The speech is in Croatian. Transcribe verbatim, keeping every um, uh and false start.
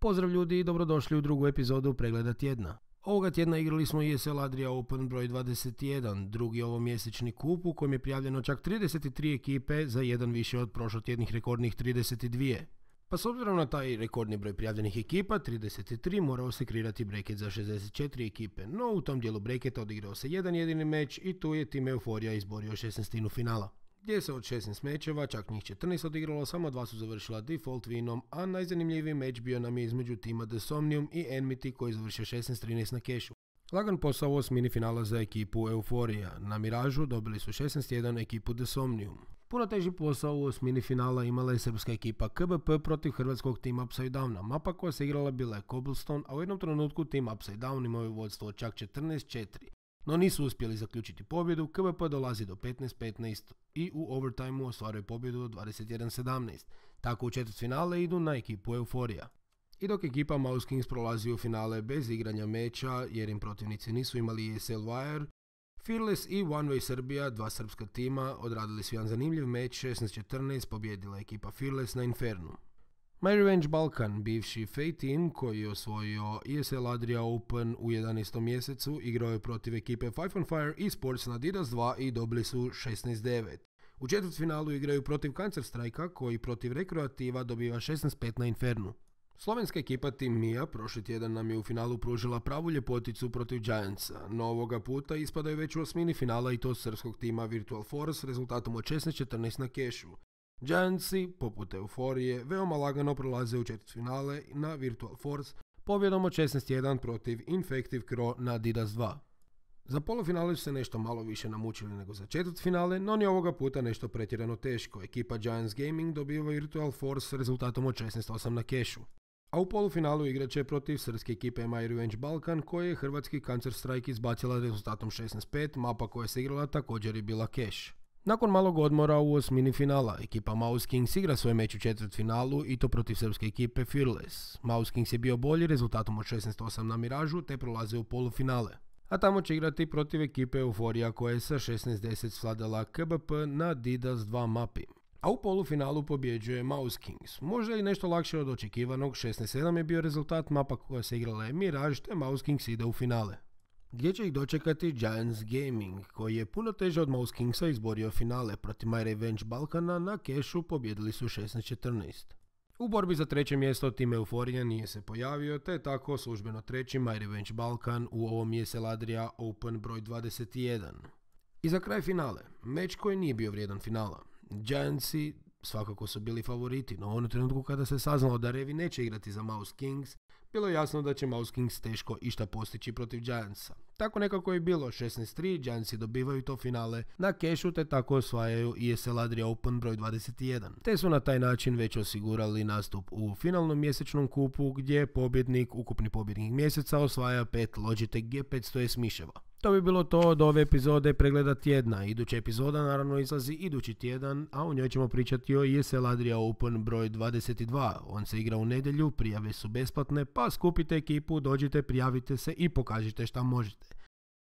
Pozdrav ljudi i dobrodošli u drugu epizodu pregleda tjedna. Ovoga tjedna igrali smo E S L Adria Open broj dvadeset jedan, drugi ovomjesečni kup u kojem je prijavljeno čak trideset tri ekipe za jedan više od prošlotjednih rekordnih trideset dva. Pa s obzirom na taj rekordni broj prijavljenih ekipa, trideset tri, morao se kreirati breket za šezdeset četiri ekipe, no u tom dijelu breketa odigrao se jedan jedini meč i tu je tim Euforija izborio šesnaestinu finala. Gdje se od šesnaest mečeva, čak njih četrnaest odigralo, samo dva su završila default winom, a najzanimljiviji meč bio nam je između tima The Somnium i Enmity koji završio šesnaest trinaest na kešu. Lagan posao osmini finala za ekipu Euforija. Na Miražu dobili su šesnaest jedan ekipu The Somnium. Puno teži posao u osmini finala imala je srpska ekipa K B P protiv hrvatskog tima Upside Downa. Mapa koja se igrala bila je Cobblestone, a u jednom trenutku tim Upside Down imao je vodstvo od čak četrnaest četiri. No nisu uspjeli zaključiti pobjedu, K B P dolazi do petnaest petnaest i u overtimeu ostvaruje pobjedu od dvadeset jedan sedamnaest. Tako u četvrtfinale idu na ekipu Euforija. I dok ekipa Mouse Kings prolazi u finale bez igranja meča jer im protivnici nisu imali E S L Wire, Fearless i One Way Serbia, dva srpska tima, odradili su jedan zanimljiv meč, šesnaest četrnaest pobjedila ekipa Fearless na Infernu. My Revenge Balkan, bivši F A Team koji je osvojio E S L Adria Open u jedanaestom mjesecu, igrao je protiv ekipe Five on Fire Esports na Adidas dva i dobili su šesnaest devet. U četvrtfinalu igraju protiv Cancer Strike-a koji protiv Rekreativa dobiva šesnaest pet na Infernu. Slovenska ekipa Team Mia prošli tjedan nam je u finalu pružila pravu ljepoticu protiv Giantsa, no ovoga puta ispadaju već u osmini finala i to srpskog tima Virtual Force rezultatom od šesnaest četrnaest na kešu. Giantsi, poput Euforije, veoma lagano prolaze u četvrtfinale na Virtual Force pobjedom od šesnaest jedan protiv Infective Crow na Adidas dva. Za polufinale su se nešto malo više namučili nego za četvrtfinale, no ni ovoga puta nešto pretjerano teško. Ekipa Giants Gaming dobiva Virtual Force rezultatom od šesnaest osam na kešu. A u polufinalu igrat će protiv srpske ekipe My Revenge Balkan koje je hrvatski Cancer Strike izbacila rezultatom šesnaest pet, mapa koja se igrala također je bila keš. Nakon malog odmora u osmini finala, ekipa Mouse Kings igra svoj meč u četvrtfinalu i to protiv srpske ekipe Fearless. Mouse Kings je bio bolji rezultatom od šesnaest osam na Miražu te prolaze u polufinale. A tamo će igrati protiv ekipe Euforija koja je sa šesnaest deset svladala K B P na Adidas dva mapi. A u polufinalu pobjeđuje Mouse Kings. Možda i nešto lakše od očekivanog, šesnaest sedam je bio rezultat, mapa koja se igrala je Mirage te Mouse Kings ide u finale. Gdje će ih dočekati Giants Gaming, koji je puno teže od Mouse Kingsa izborio finale protiv My Revenge Balkana, na kešu pobjedili su šesnaest četrnaest. U borbi za treće mjesto tim Euforija nije se pojavio, te je tako službeno treći My Revenge Balkan u ovom E S L Adria Open broj dvadeset jedan. I za kraj finale, meč koji nije bio vrijedan finala. Giantsi svakako su bili favoriti, no u onom trenutku kada se saznalo da Revi neće igrati za Mouse Kings, bilo je jasno da će Mouse Kings teško išta postići protiv Giantsa. Tako nekako je bilo, šesnaest tri, Giantsi dobivaju to finale na kešu te tako osvajaju E S L Adria Open broj dvadeset jedan. Te su na taj način već osigurali nastup u finalnom mjesečnom kupu gdje pobjednik, ukupni pobjednik mjeseca osvaja pet Logitech G petsto S miševa. To bi bilo to od ove epizode pregleda tjedna. Iduća epizoda naravno izlazi idući tjedan, a u njoj ćemo pričati o E S L Adria Open broj dvadeset dva. On se igra u nedjelju, prijave su besplatne, pa skupite ekipu, dođite, prijavite se i pokažite šta možete.